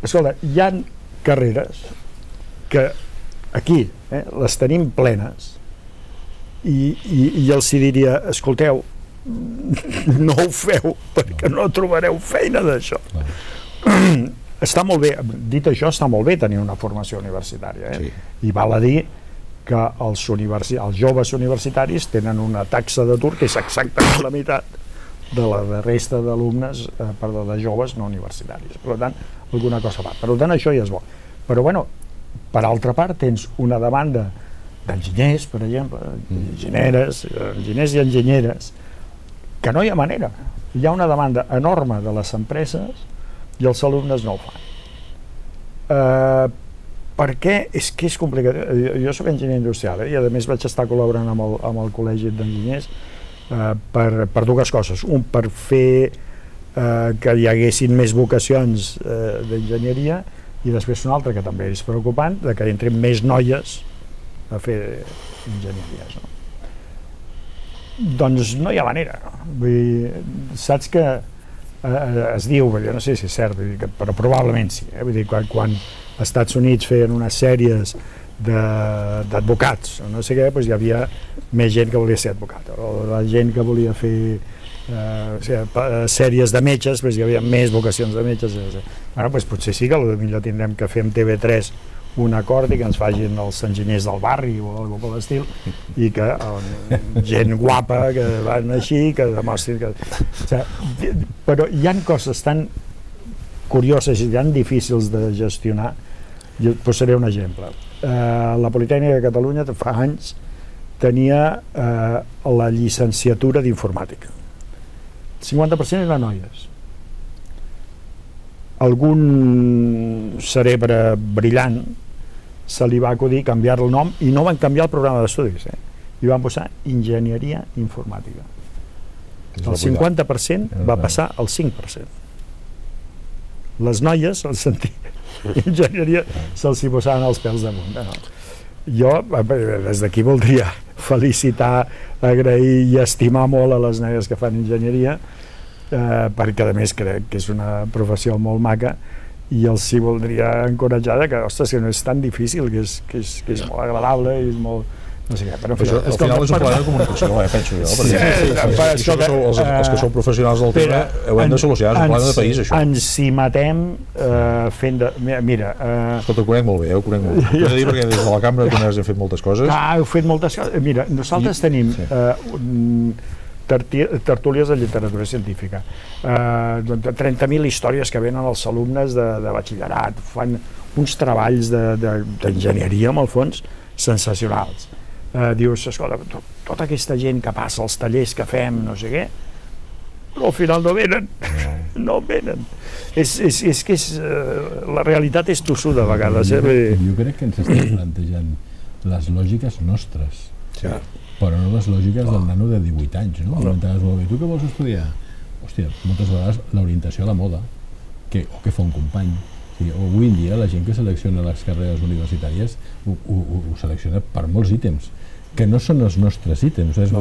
Escolta, hi ha carreres que aquí les tenim plenes i els diria, escolteu, no ho feu perquè no trobareu feina d'això. Està molt bé, dit això, està molt bé tenir una formació universitària, i val a dir que els joves universitaris tenen una taxa d'atur que és exactament la meitat de la resta d'alumnes, de joves no universitaris. Per tant, alguna cosa va. Per tant, això ja és bo. Però, bueno, per altra part, tens una demanda d'enginyers, per exemple, enginyers i enginyeres, que no hi ha manera. Hi ha una demanda enorme de les empreses i els alumnes no ho fan. Perquè és que és complicat. Jo soc enginyer industrial i a més vaig estar col·laborant amb el col·legi d'enginyers per dues coses. Un, per fer que hi haguessin més vocacions d'enginyeria, i després un altre que també és preocupant, de que entrin més noies a fer enginyeries. Doncs no hi ha manera. Vull dir, saps que es diu, jo no sé si és cert, però probablement sí. Vull dir, quan als Estats Units feien unes sèries d'advocats, no sé què, doncs hi havia més gent que volia ser advocat, o la gent que volia fer sèries de metges, doncs hi havia més vocacions de metges. Bueno, doncs potser sí que potser tindrem que fer amb TV3 un acord i que ens facin els enginyers del barri o alguna cosa per l'estil, i que gent guapa que van així, que demostrin que... Però hi ha coses tan curioses i tan difícils de gestionar. Jo posaré un exemple. La Politècnica de Catalunya fa anys tenia la llicenciatura d'informàtica. El 50% eren noies. Algun cerebre brillant se li va acudir canviar el nom i no van canviar el programa d'estudis, i van posar enginyeria informàtica. El 50% va passar al 5%. Les noies, al sentir enginyeria, se'ls hi posaven els pèls damunt. Jo, des d'aquí voldria felicitar, agrair i estimar molt a les negres que fan enginyeria, perquè a més crec que és una professió molt maca, i els sí voldria encoratjar que, ostres, que no és tan difícil, que és molt agradable i és molt... no sé què, però al final és un problema de comunicació, penso jo, perquè els que sou professionals del tema ho hem de solucionar, és un problema de país, això. Ens hi matem fent de... Mira... Escolta, ho conec molt bé, ho conec molt bé. Ho he de dir perquè des de la cambra de comerç hem fet moltes coses. Heu fet moltes coses. Mira, nosaltres tenim tertúlies de literatura científica, 30.000 històries que venen els alumnes de batxillerat, fan uns treballs d'enginyeria, en el fons, sensacionals. Dius, escolta, tota aquesta gent que passa als tallers que fem, no sé què, però al final no venen, no venen. És que la realitat és tossuda a vegades. Jo crec que ens estem plantejant les lògiques nostres, però no les lògiques del nano de 18 anys, no? Tu què vols estudiar? Hòstia, moltes vegades l'orientació a la moda, o què fa un company. Avui en dia la gent que selecciona les carreres universitàries ho selecciona per molts ítems que no són els nostres ítems. És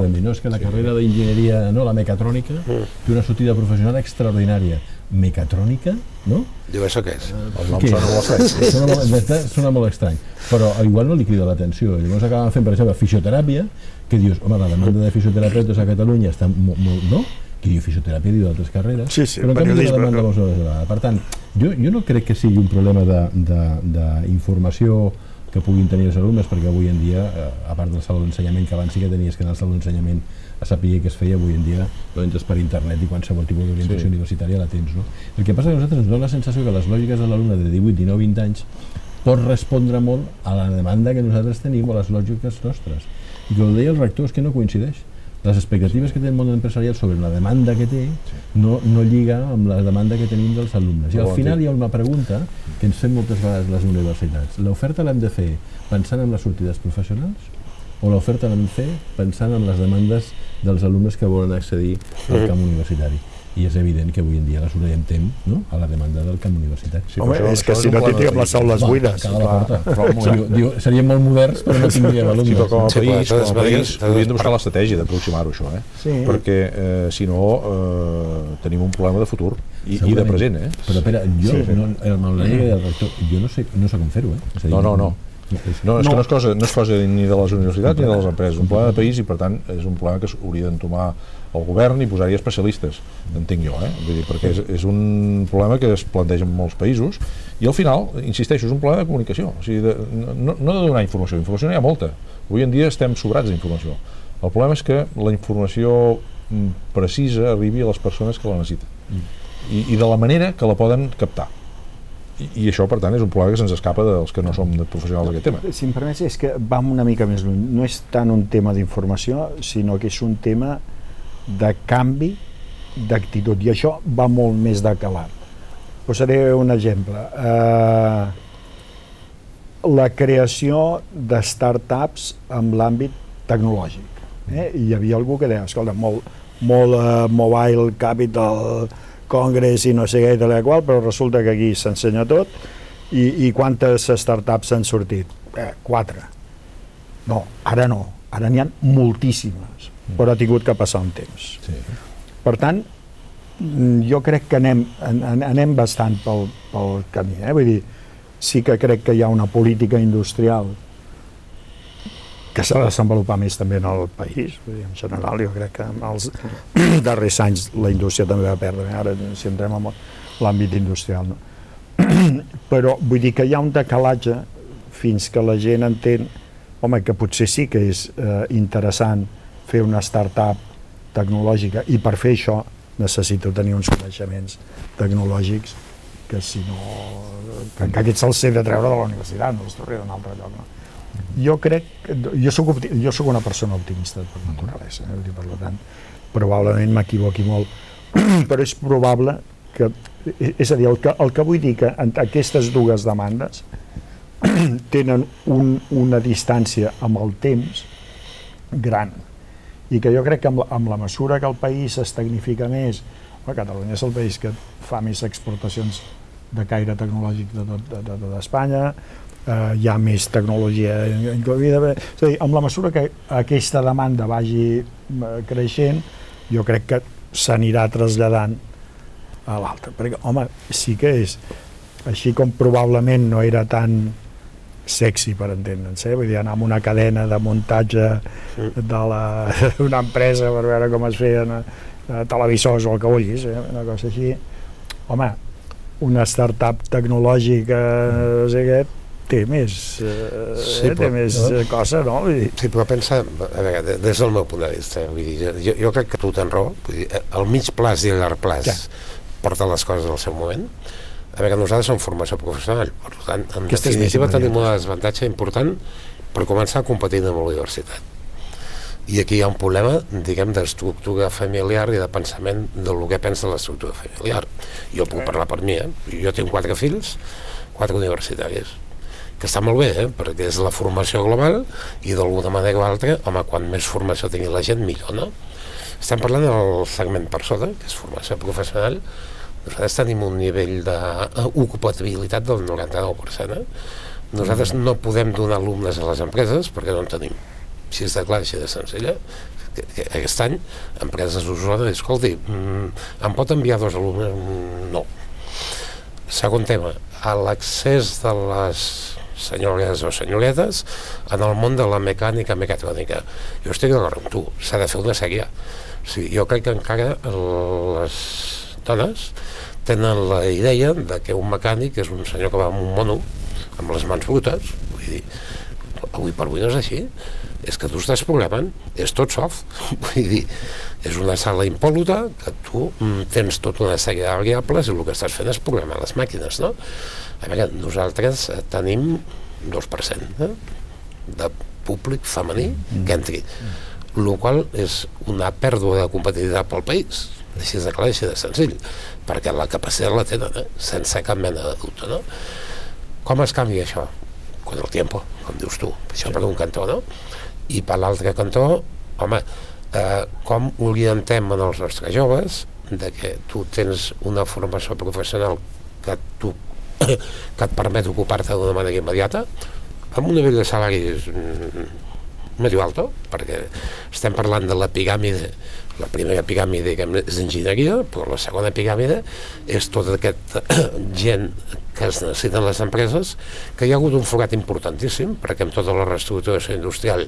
que la carrera d'enginyeria, la mecatrònica, té una sortida professional extraordinària. Mecatrònica, no? Diu, això què és? El nom sona molt estrany. Sona molt estrany, però igual no li crida l'atenció. Llavors acaben fent, per exemple, fisioteràpia, que dius, home, la demanda de fisioterapeutes a Catalunya està molt, no? Qui diu fisioteràpia diu d'altres carreres, però en canvi la demanda molt elevada. Per tant, jo no crec que sigui un problema d'informació que puguin tenir els alumnes, perquè avui en dia, a part del saló d'ensenyament, que abans sí que tenies que anar al saló d'ensenyament a saber què es feia, avui en dia no entres per internet i qualsevol tipus d'orientació universitària la tens, no? El que passa és que a nosaltres ens dona la sensació que les lògiques de l'alumne de 18, 19, 20 anys pot respondre molt a la demanda que nosaltres tenim o a les lògiques nostres. I com deia el rector, és que no coincideix. Les expectatives que té el món empresarial sobre la demanda que té no lliga amb la demanda que tenim dels alumnes. I al final hi ha una pregunta que ens fem moltes vegades les universitats. L'oferta l'hem de fer pensant en les sortides professionals o l'oferta l'hem de fer pensant en les demandes dels alumnes que volen accedir al camp universitari? I és evident que avui en dia les orientem a la demanda del camp universitari. Home, és que si no tindríem les aules buides. Seríem molt moderns, però no tindríem alumnes. Com a país hauríem de buscar l'estratègia d'aproximar-ho, això, perquè si no tenim un problema de futur i de present. Però espera, jo, amb la llei del rector, jo no sé com fer-ho. No, és que no és cosa ni de les universitats ni de les empreses, és un problema de país i per tant és un problema que s'hauria d'entomar el govern i posar-hi especialistes, entenc jo, vull dir, perquè és un problema que es planteja en molts països i al final, insisteixo, és un problema de comunicació, o sigui, no de donar informació n'hi ha molta, avui en dia estem sobrats d'informació, el problema és que la informació precisa arribi a les persones que la necessiten i de la manera que la poden captar. I això, per tant, és un problema que se'ns escapa dels que no som professionals d'aquest tema. Si em permets, és que vam una mica més lluny. No és tant un tema d'informació, sinó que és un tema de canvi d'actitud. I això va molt més de calat. Posaré un exemple. La creació de start-ups en l'àmbit tecnològic. Hi havia algú que deia, escolta, molt Mobile Capital Congress i no sé què i tal i qual, però resulta que aquí s'ensenya tot i quantes startups han sortit? 4. No, ara n'hi ha moltíssimes, però ha tingut que passar un temps. Per tant, jo crec que anem bastant pel camí, vull dir, sí que crec que hi ha una política industrial que s'ha de desenvolupar més també en el país. En general, jo crec que en els darrers anys la indústria també va perdre, ara si entrem en l'àmbit industrial. Però vull dir que hi ha un decalatge fins que la gent entén que potser sí que és interessant fer una start-up tecnològica i per fer això necessito tenir uns coneixements tecnològics que si no... que aquests se'ls he de treure de la universitat, no els trobaré d'un altre lloc. Jo crec, jo soc una persona optimista per naturalesa, per tant, probablement m'equivoqui molt, però és probable que, és a dir, el que vull dir que aquestes dues demandes tenen una distància amb el temps gran i que jo crec que amb la mesura que el país es tecnifica més, Catalunya és el país que fa més exportacions de caire tecnològic de tota Espanya, hi ha més tecnologia incloïda. És a dir, amb la mesura que aquesta demanda vagi creixent, jo crec que s'anirà traslladant a l'altra, perquè, home, sí que és així com probablement no era tan sexy, per entendre'ns, vull dir, anar amb una cadena de muntatge d'una empresa per veure com es feien televisors o el que vulguis, una cosa així. Home, una startup tecnològica, no sé què, té més, cosa, no? Sí, però pensa, a veure, des del meu punt de vista, vull dir, jo crec que tu tens raó, vull dir, el mig plaç i el llarg plaç porten les coses al seu moment. A veure, nosaltres som formació professional, per tant, en definitiva tenim un desavantatge important per començar a competir amb la universitat. I aquí hi ha un problema, diguem, d'estructura familiar i de pensament del que pensa l'estructura familiar. Jo puc parlar per mi, jo tinc 4 fills, 4 universitaris, que està molt bé, perquè és la formació global i d'alguna manera o altra, home, quan més formació tingui la gent, millor, no? Estem parlant del segment per sota, que és formació professional. Nosaltres tenim un nivell d'ocupabilitat del 99%. Nosaltres no podem donar alumnes a les empreses perquè no en tenim. Així és de clar, així de senzilla. Aquest any, empreses d'Osona, escolti, em pot enviar 2 alumnes? No. Segon tema, a l'accés de les senyores o senyoretes en el món de la mecànica mecatrònica. Jo estic d'acord amb tu, s'ha de fer una sèrie. O sigui, jo crec que encara les dones tenen la idea de que un mecànic és un senyor que va amb un mono amb les mans brutes. Vull dir, avui per avui no és així, és que tu estàs programant, és tot soft, vull dir, és una sala impòluta que tu tens tota una sèrie de variables i el que estàs fent és programar les màquines, no? A veure, nosaltres tenim 2% de públic femení que entri, el qual és una pèrdua de competitivitat pel país, així de clar, així de senzill, perquè la capacitat la tenen, sense cap mena de dubte, no? Com es canvia això? Con el tiempo, com dius tu, això per un cantó, no? I per l'altre cantó, home, com orientem en els nostres joves de que tu tens una formació professional que et permet ocupar-te d'una manera immediata amb un nivell de salaris medio alto, perquè estem parlant de la piràmide. La primera piràmide és enginyeria, però la segona piràmide és tota aquesta gent que es necessiten les empreses, que hi ha hagut un forat importantíssim, perquè amb tota la reestructuració industrial,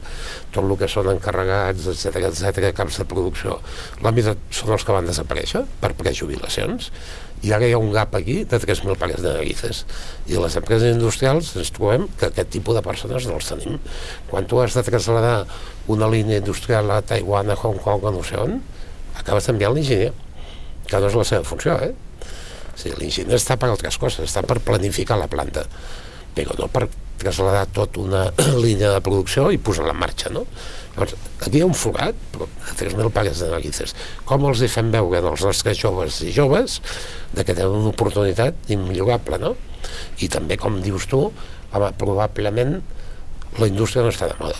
tot el que són encarregats, etc, camps de producció, la meitat són els que van desaparèixer per prejubilacions, i ara hi ha un gap aquí de 3.000 pares de narices, i les empreses industrials ens trobem que aquest tipus de persones no els tenim. Quan tu has de traslladar una línia industrial a Taiwan, a Hong Kong, a no sé on, acabes enviant l'enginyer, que no és la seva funció, O sigui, l'enginyer està per altres coses, està per planificar la planta, però no per traslladar tota una línia de producció i posar-la en marxa, no? Llavors, aquí hi ha un forat, però de 3.000 pares de narices. Com els hi fem veure als nostres joves i joves de que tenen una oportunitat immillorable, no? I també, com dius tu, home, probablement la indústria no està de moda.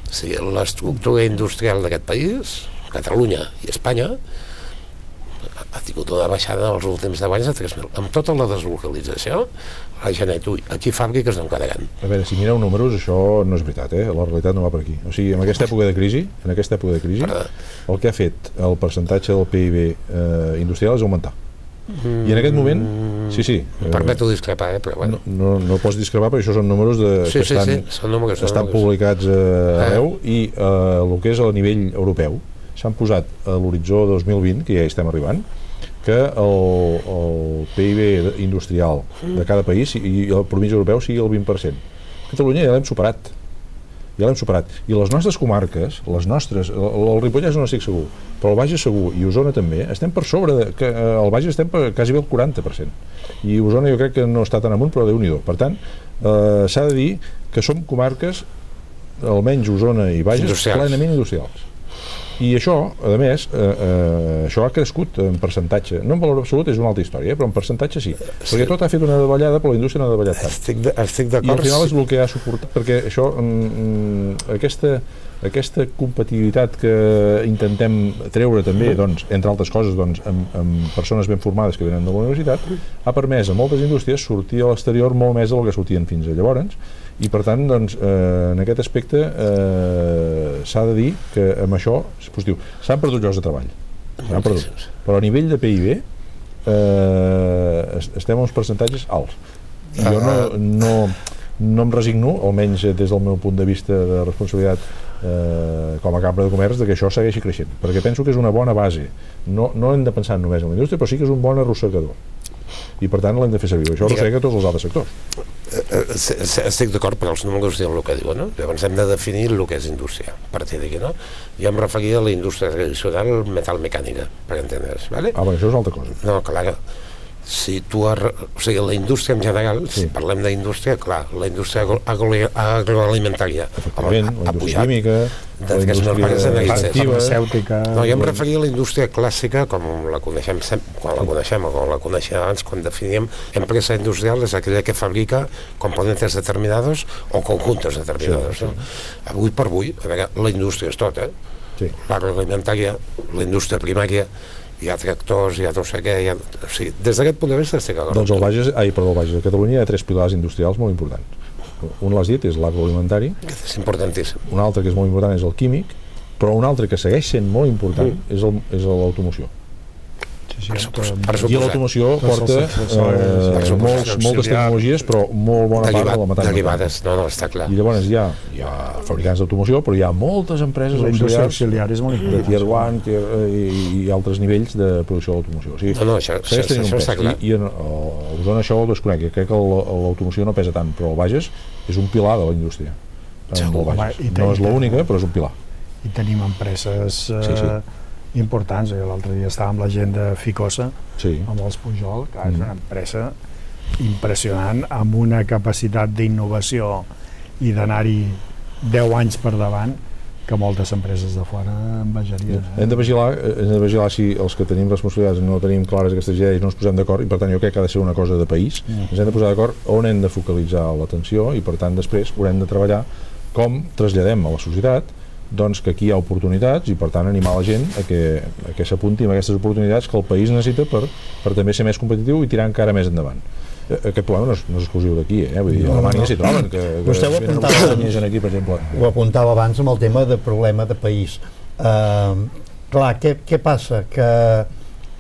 O sigui, l'estructura industrial d'aquest país, Catalunya i Espanya, ha tingut una baixada els últims 10 anys de 3.000. Amb tota la deslocalització, la gent aquí fàbriques no en quedaran. A veure, si mireu números, això no és veritat, la realitat no va per aquí. O sigui, en aquesta època de crisi, el que ha fet el percentatge del PIB industrial és augmentar. I en aquest moment, sí. Permeto discrepar, però bueno. No pots discrepar, però això són números que estan publicats arreu, i el que és a nivell europeu s'han posat a l'horitzó 2020, que ja hi estem arribant, que el PIB industrial de cada país i el promís europeu sigui el 20%. Catalunya ja l'hem superat. I les nostres comarques, el Ripollès no estic segur, però el Bages segur i Osona també, estem per sobre, el Bages estem per quasi bé el 40%. I Osona jo crec que no està tan amunt, però Déu-n'hi-do. Per tant, s'ha de dir que som comarques, almenys Osona i Bages, plenament industrials. I això, a més, això ha crescut en percentatge. No en valor absolut, és una altra història, però en percentatge sí. Perquè tot ha fet una davallada, però la indústria no ha davallat tant. Estic d'acord. I al final és el que ha suportat, perquè això, aquesta competitivitat que intentem treure també, doncs, entre altres coses, doncs, amb persones ben formades que venen de la universitat, ha permès a moltes indústries sortir a l'exterior molt més del que sortien fins a llavors, i per tant, doncs, en aquest aspecte s'ha de dir que amb això és positiu. S'han perdut llocs de treball, però a nivell de PIB estem a uns percentatges alts. I jo no em resigno, almenys des del meu punt de vista de responsabilitat com a cambra de comerç, que això segueixi creixent, perquè penso que és una bona base. No hem de pensar només en la indústria, però sí que és un bon arrossegador, i per tant l'hem de fer servir. Això arrossega tots els altres sectors. Estic d'acord, però els números diuen el que diuen, no? Llavors hem de definir el que és indústria, a partir d'aquí, no? Jo em referia a la indústria tradicional metal-mecànica, per entendre's, ¿vale? Això és una altra cosa. No, clar, si tu... O sigui, la indústria en general, si parlem d'indústria, clar, la indústria agroalimentària la indústria química, la indústria farmacèutica... No, jo em referia a la indústria clàssica, com la coneixem quan la coneixem o com la coneixem abans, quan definíem empresa industrial és aquella que fabrica componentes determinados o conjuntos determinados. Avui per avui, a veure, la indústria és tot, l'agroalimentària, la indústria primària, hi ha tractors, hi ha no sé què, o sigui, des d'aquest punt de vista estic d'acord. Doncs al Bages, a Catalunya hi ha 3 pilars industrials molt importants. Un l'has dit, és l'agroalimentari. És importantíssim. Un altre que és molt important és el químic, però un altre que segueix sent molt important és l'automoció. I l'automoció porta moltes tecnologies, però molt bona part de la metàl·lica. Derivades, no, està clar. I llavors hi ha fabricants d'automoció, però hi ha moltes empreses auxiliars de Tier 1 i altres nivells de producció d'automoció. No, això està clar. I a Osona això ho desconec, crec que l'automoció no pesa tant, però el Bages és un pilar de la indústria. No és l'única, però és un pilar. I tenim empreses importants. L'altre dia estava amb la gent de Ficosa, amb els Pujol, que és una empresa impressionant, amb una capacitat d'innovació i d'anar-hi 10 anys per davant, que moltes empreses de fora envejarien. Hem de vigilar si els que tenim responsabilitats no tenim clares aquestes idees, no ens posem d'acord, i per tant jo crec que ha de ser una cosa de país. Ens hem de posar d'acord on hem de focalitzar l'atenció, i per tant després haurem de treballar com traslladem a la societat doncs que aquí hi ha oportunitats, i per tant animar la gent a que s'apunti amb aquestes oportunitats que el país necessita per també ser més competitiu i tirar encara més endavant. Aquest problema no és exclusiu d'aquí, vull dir, a Alemanya s'hi troben, que vostè ho apuntava abans amb el tema de problema de país. Clar, què passa? Que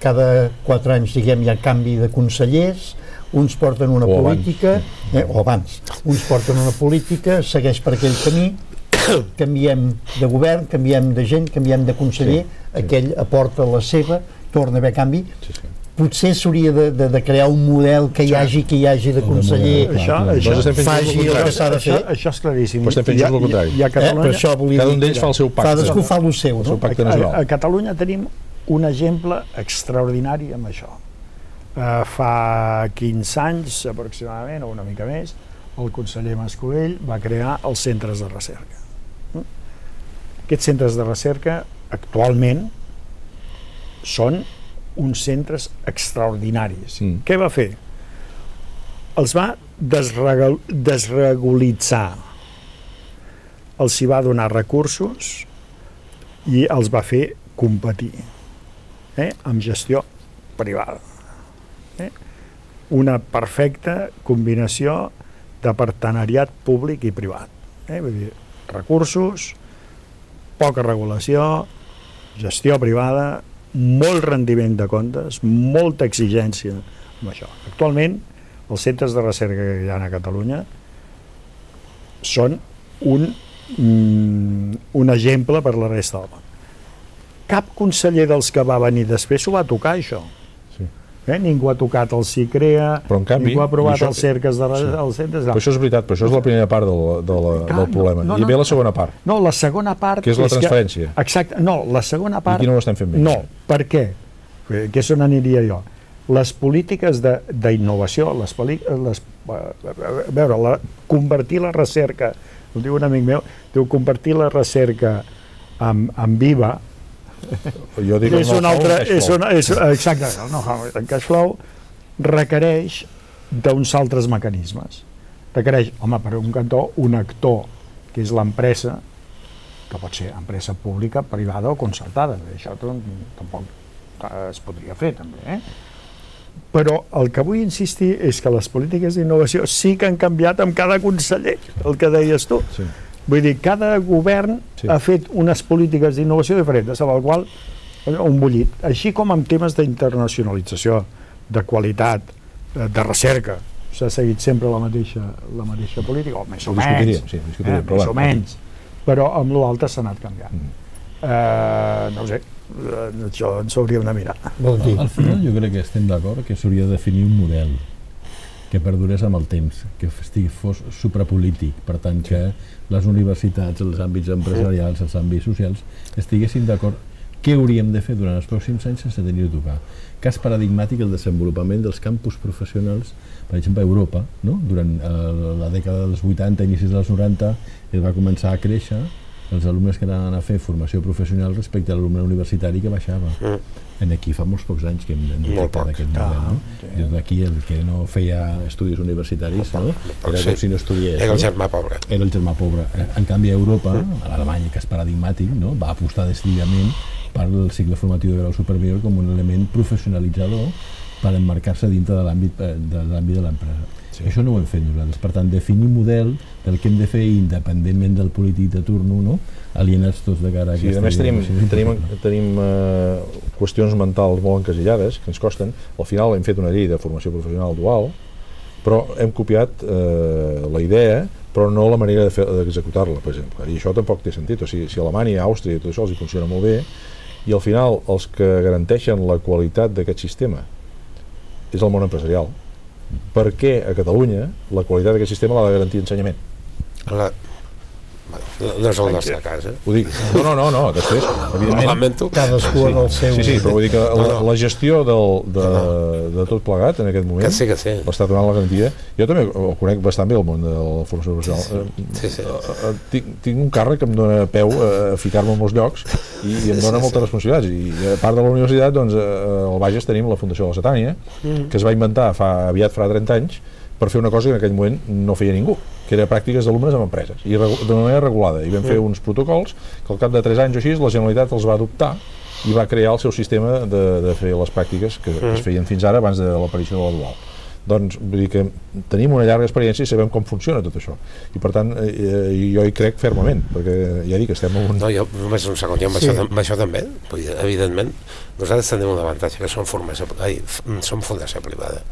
cada 4 anys, diguem, hi ha canvi de consellers, uns porten una política, o abans, uns porten una política, segueix per aquell camí, canviem de govern, canviem de gent, canviem de conseller, aquell aporta la seva, torna a haver canvi. Potser s'hauria de crear un model que hi hagi de conseller, faci el que s'ha de fer. Això és claríssim. Però estem fent just el contrari. Cada un d'ells fa el seu pacte. Cadascú fa el seu. A Catalunya tenim un exemple extraordinari amb això. Fa 15 anys, aproximadament, o una mica més, el conseller Mascolell va crear els centres de recerca. Aquests centres de recerca actualment són uns centres extraordinaris. Què va fer? Els va desregulitzar, els hi va donar recursos i els va fer competir amb gestió privada. Una perfecta combinació de partenariat públic i privat. Vull dir, recursos, poca regulació, gestió privada, molt rendiment de comptes, molta exigència amb això. Actualment, els centres de recerca que hi ha a Catalunya són un exemple per la resta del món. Cap conseller dels que va venir després s'ho va tocar, això. Ningú ha tocat el CICREA, ningú ha aprovat els cerques dels centres. Però això és veritat, però això és la primera part del problema. I ve la segona part. No, la segona part... Que és la transferència. Exacte, no, la segona part... I aquí no ho estem fent bé. No, per què? Que és on aniria jo. Les polítiques d'innovació, convertir la recerca, ho diu un amic meu, convertir la recerca en viva, Jo dic és un altre... Exacte, el cash flow requereix d'uns altres mecanismes. Requereix, home, per un cantó, un actor, que és l'empresa, que pot ser empresa pública, privada o concertada. Això tampoc es podria fer, també. Però el que vull insistir és que les polítiques d'innovació sí que han canviat amb cada conseller, el que deies tu. Sí. Vull dir, cada govern ha fet unes polítiques d'innovació diferents, amb el qual un bullit. Així com en temes d'internacionalització, de qualitat, de recerca, s'ha seguit sempre la mateixa política, o més o menys, però amb l'altre s'ha anat canviant. No ho sé, això ens hauríem de mirar. Al final jo crec que estem d'acord que s'hauria de definir un model que perdurés amb el temps, que fos suprapolític, per tant que les universitats, els àmbits empresarials, els àmbits socials estiguessin d'acord què hauríem de fer durant els pròxims anys sense tenir de tocar. Cas paradigmàtic el desenvolupament dels campus professionals, per exemple a Europa, no? Durant la dècada dels 80, inicis dels 90, es va començar a créixer els alumnes que anaven a fer formació professional respecte a l'alumne universitari que baixava. Aquí fa molts pocs anys que hem detectat aquest model. Des d'aquí el que no feia estudis universitaris era com si no estudiés. Era el germà pobre. Era el germà pobre. En canvi a Europa, a l'Alemanya, que és paradigmàtic, va apostar decididament per el cicle formatiu de grau superior com un element professionalitzador per emmarcar-se dintre de l'àmbit de l'empresa. Això no ho hem fet nosaltres. Per tant, definir model del que hem de fer independentment del polític de turno, alienats tots de cara a aquesta... A més, tenim qüestions mentals molt encasillades, que ens costen. Al final hem fet una llei de formació professional dual, però hem copiat la idea, però no la manera d'executar-la, per exemple. I això tampoc té sentit. O sigui, si a Alemanya, Àustria i tot això els hi funciona molt bé, i al final els que garanteixen la qualitat d'aquest sistema és el món empresarial. Per què a Catalunya la qualitat d'aquest sistema l'ha de garantir ensenyament? No és el nostre cas, Ho dic, no, després, evidentment... Cadascú en el seu... Sí, però vull dir que la gestió de tot plegat, en aquest moment, l'està donant la garantia. Jo també ho conec bastant bé, el món de la formació professional. Tinc un càrrec que em dona peu a ficar-me en molts llocs i em dona moltes responsabilitats. I a part de la universitat, doncs, al Bages tenim la Fundació de la Setània, que es va inventar aviat farà 30 anys, per fer una cosa que en aquell moment no feia ningú, que era pràctiques d'alumnes amb empreses, i de manera regulada. I vam fer uns protocols que al cap de 3 anys o així la Generalitat els va adoptar i va crear el seu sistema de fer les pràctiques que es feien fins ara abans de l'aparició de la dual. Doncs vull dir que tenim una llarga experiència i sabem com funciona tot això. I per tant, jo hi crec fermament, perquè ja dic, estem en un... No, jo només un segon, jo amb això també, evidentment, nosaltres tenim un avantatge, que som fundació privada.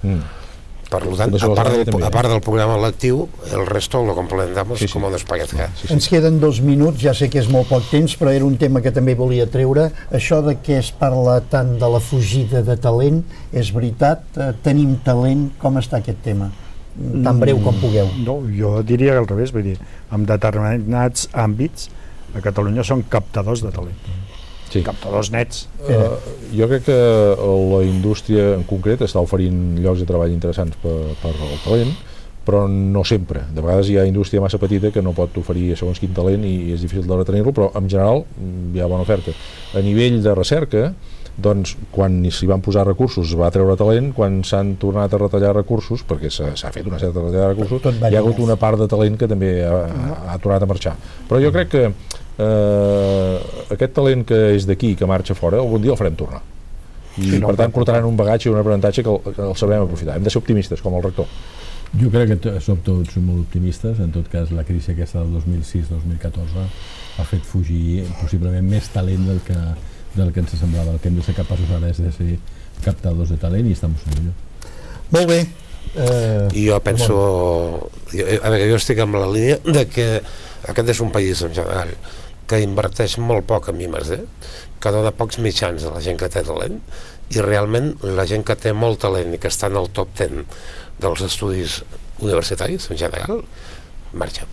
Per tant, a part del programa lectiu, el resto lo complementamos como nos parezca. Ens queden 2 minuts, ja sé que és molt poc temps, però era un tema que també volia treure. Això de què es parla tant de la fugida de talent, és veritat? Tenim talent? Com està aquest tema? Tan breu com pugueu. No, jo diria al revés, vull dir, en determinats àmbits a Catalunya són captadors de talent. Captadors nets. Jo crec que la indústria en concret està oferint llocs de treball interessants per al talent, però no sempre. De vegades hi ha indústria massa petita que no pot oferir segons quin talent i és difícil de retenir-lo, però en general hi ha bona oferta. A nivell de recerca, doncs, quan s'hi van posar recursos es va treure talent, quan s'han tornat a retallar recursos, perquè s'ha fet una certa retallada de recursos, hi ha hagut una part de talent que també ha tornat a marxar. Però jo crec que aquest talent que és d'aquí, que marxa fora, algun dia el farem tornar. I per tant portaran un bagatge i un aprenentatge que el sabrem aprofitar. Hem de ser optimistes, com el rector. Jo crec que som tots molt optimistes. En tot cas, la crisi aquesta del 2006-2014 ha fet fugir possiblement més talent del que ens semblava. El que hem de ser capaços ara és de ser captadors de talent i estem millor. Molt bé. I jo penso... Jo estic amb la línia de que aquest és un país en general que inverteix molt poc en I+D, que dona pocs mitjans a la gent que té talent, i realment la gent que té molt talent i que està en el top 10 dels estudis universitaris en general, marxa.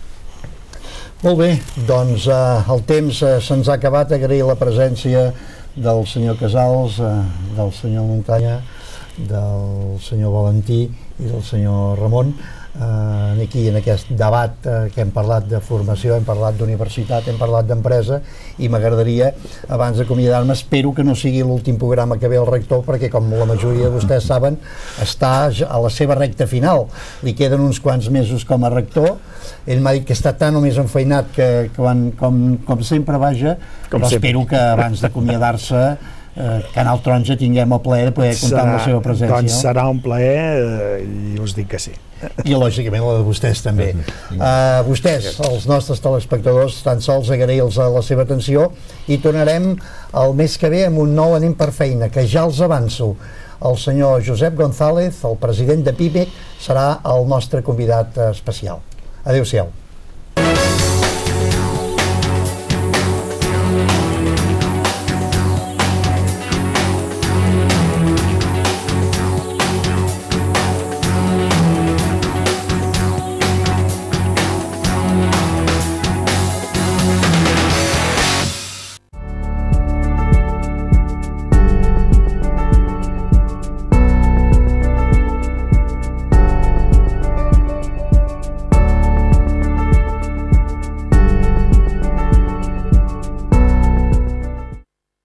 Molt bé, doncs el temps se'ns ha acabat. Agrair la presència del senyor Casals, del senyor Muntanya, del senyor Valentí i del senyor Ramon. aquí en aquest debat que hem parlat de formació, hem parlat d'universitat, hem parlat d'empresa, i m'agradaria, abans d'acomiadar-me, espero que no sigui l'últim programa que ve el rector, perquè com la majoria de vostès saben, està a la seva recta final, li queden uns quants mesos com a rector. Ell m'ha dit que està tan o més enfeinat que com sempre, vaja, però espero que abans d'acomiadar-se Canal Taronja tinguem el plaer de poder comptar amb la seva presència. Doncs serà un plaer i us dic que sí. I lògicament la de vostès també. Vostès, els nostres telespectadors, tan sols agrair-los la seva atenció, i tornarem el mes que ve amb un nou Anem per feina, que ja els avanço. El senyor Josep González, el president de PIMEC, serà el nostre convidat especial. Adéu-siau.